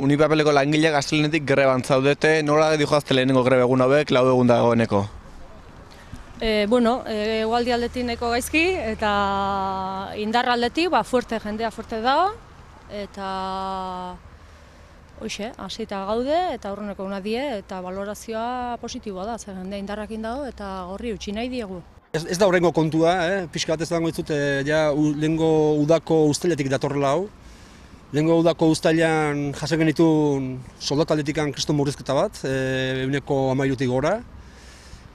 Unipapeleko langileak astelehenetik greban zaudete, nola dijoazte lehenengo greba egun hauek, 4 egun dagoeneko? Egualdi aldetik nahiko gaizki eta indar aldetik jendea fuerte dago eta hoxe, hasita gaude eta aurreneko una die eta valorazioa positiboa da, zer jendea indarrakin dago eta horri utzi nahi diegu. Ez da horrengo kontua, pixka bat ez dago ditzut, lehengo udako uztailetik datorrela hau. Lehengo udako uztailean jasen genituen soldataldetikan kriston murrizketa bat, 13%tik gora.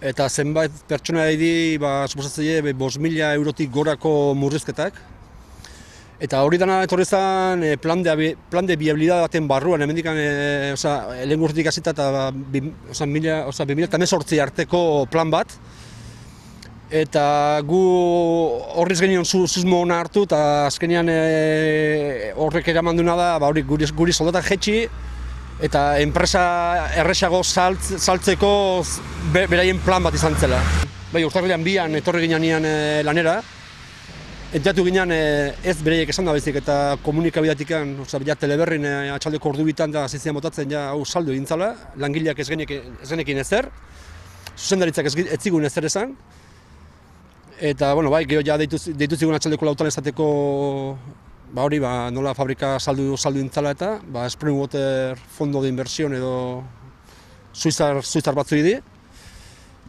Eta zenbait pertsona di, suposatzaile, 5.000 eurotik gorako murrizketak. Eta hori dana etorri zen plan de viabilidad baten barruan, hemendikan lehen urtetik hasita eta 2018 arteko plan bat. Eta gu horriz genion susmo hona hartu eta azkenean horrek eraman duena da guri soldatak jetxi eta enpresa erresago saltzeko beraien plan bat izan zela. Urtarrilean 2an etorri ginean lanera, enteatu ginean ez bereiek esan da baizik eta komunikabidatikan, teleberrin atxaldeko ordu bitan da zizian botatzen hau saldu egin zala, langileak ez genekin ezer, zuzendaritzak ez zigun ezer esan. Eta, gero ja deitu zigun atxaldeko lautan esateko nola fabrika saldu intzala eta Springwater Fondo de Inversión edo suizar batzu di.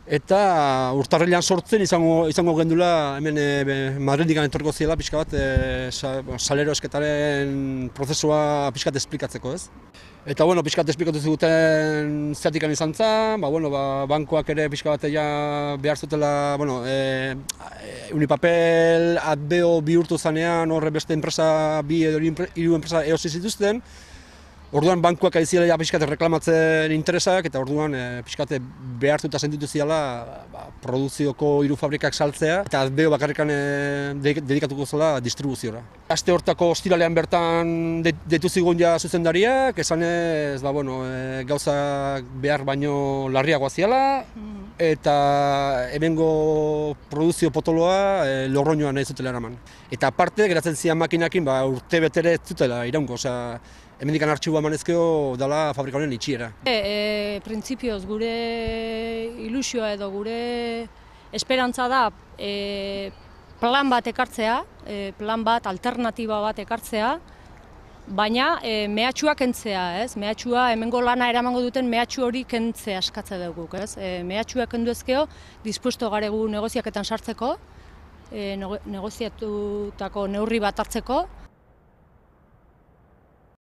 Eta urtarrilean sortzen izango gendula hemen Madridikan etorriko ziela pixka bat salero esketaren prozesua pixka bat esplikatzeko, ez? Eta pixka bat esplikatu ziguten zertikan izan zen, bankoak ere pixka bat behar zutela, Unipapel atbeo bihurtu zanean horre beste enpresa, 2 edo 3 enpresa eosi zituzten. Orduan bankuak ari zirela pixka bat reklamatzen interesak eta orduan pixka bat behartuta sentitu ziala produzioko 3 fabrikak saltzea eta atbeo bakarrikan dedikatuko zela distribuziora. Aste hortako ostiralean bertan deitu zigun zuzendariak, esanez gauzak behar baino larriagoa ziala eta hemengo produzio potoloa Lorroñoan nahi zutela eraman. Eta aparte, geratzen zian makinakin urte betere ez zutela iraungo, hemendikan artxiboa emanezkeo dela fabrika honen itxiera. Printzipioz gure ilusioa edo gure esperantza da plan bat ekartzea, plan bat, alternatiba bat ekartzea, baina mehatxua kentzea, ez? Mehatxua, hemengo lana eramango duten mehatxu hori kentzea eskatze dugu, ez? Mehatxua kendu ezkeo, dispuesto garegu negoziaketan sartzeko, negoziatutako neurri bat hartzeko,